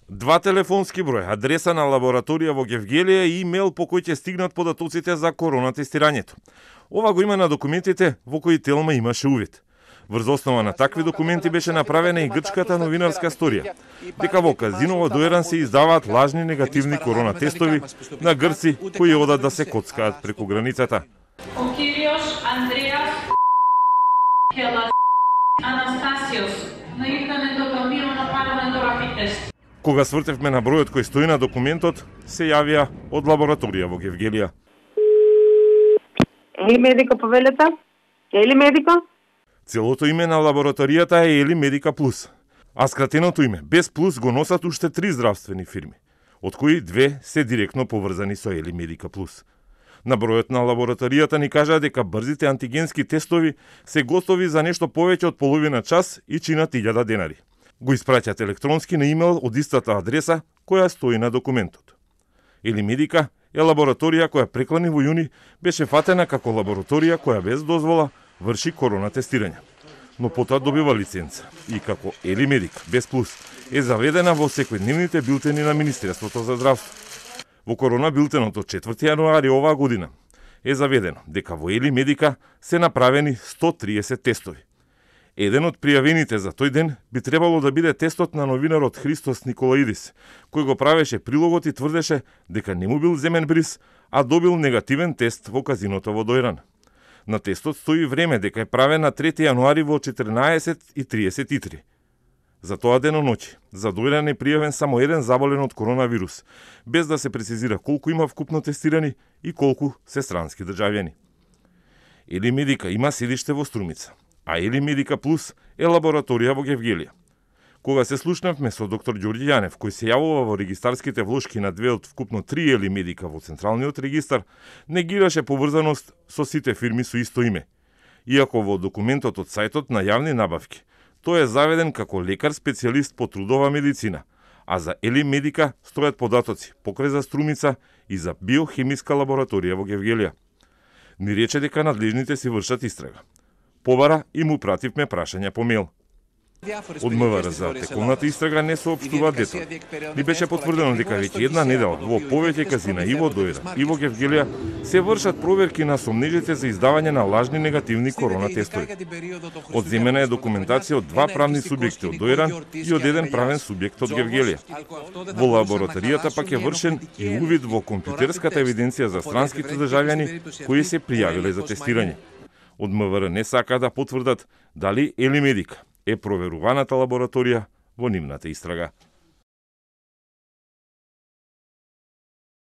2 телефонски броја, адреса на лабораторија во Гевгелија и имейл по кој ќе стигнат податоците за коронатестирањето. Ова го има на документите во кои Телма имаше увид. Врз основа на такви документи беше направена и грчката новинарска сторија, дека во казино во Дојран се издаваат лажни негативни коронатестови на грци кои одат да се коцкаат преку границата. Ο κύριος Ανδρέας Αναστάσιος να ήρθαμε το ταμείο να πάρουμε το rapid test. Кога свртевме на бројот кој стои на документот, се јавија од лабораторија во Гевгелија. Ели Медика повелета? Ели Медика? Целото име на лабораторијата е Ели Медика Плюс, а скратеното име без Плюс го носат уште 3 здравствени фирми, од кои 2 се директно поврзани со Ели Медика Плюс. На бројот на лабораторијата ни кажа дека брзите антигенски тестови се готови за нешто повеќе од половина час и чинат 1000 денари. Го испраќат електронски на имейл од истата адреса која стои на документот. Ели Медика е лабораторија која преклани во јуни беше фатена како лабораторија која без дозвола врши коронатестирање. Но потоа добива лиценца и како Ели Медика без Плюс е заведена во секојдневните билтени на Министерството за здравство. Во корона билтенот од 4 јануари оваа година е заведено дека во Ели Медика се направени 130 тестови. Еден од пријавените за тој ден би требало да биде тестот на новинарот Христос Николаидис, кој го правеше прилогот и тврдеше дека не му бил земен бриз, а добил негативен тест во казиното во Дојран. На тестот стои време дека е правен на 3 јануари во 14:33. За тоа деноноќи, за Дојран е пријавен само еден заболен од коронавирус, без да се прецизира колку има вкупно тестирани и колку се странски државјани. Ели Медика има седиште во Струмица, а Ели Медика Плюс е лабораторија во Гевгелија. Кога се слушнавме со доктор Ѓорѓи Јанев, кој се јавува во регистарските влошки на 2 од вкупно 3 Ели Медика во Централниот регистар, негираше поврзаност со сите фирми со исто име. Иако во документот од сајтот на јавни набавки, тој е заведен како лекар специјалист по трудова медицина, а за Ели Медика стојат податоци покрај за Струмица и за биохемиска лабораторија во Гевгелија. Ни рече дека надлежните си вршат истрага. Побара и му пративме прашања по мејл. Од МВР за теколната истрага не соопштува детали. Ни беше потврдено дека веќе една недела во повеќе казина и во Дојран и во Гевгелија се вршат проверки на сомнежите за издавање на лажни негативни коронатестови. Одземена е документација од 2 правни субјекти од Дојран и од еден правен субјект од Гевгелија. Во лабораторијата пак е вршен и увид во компјутерската евиденција за странските државјани кои се пријавиле за тестирање. Од МВР не сака да потврдат дали Ели Медика е проверуваната лабораторија во нивната истрага.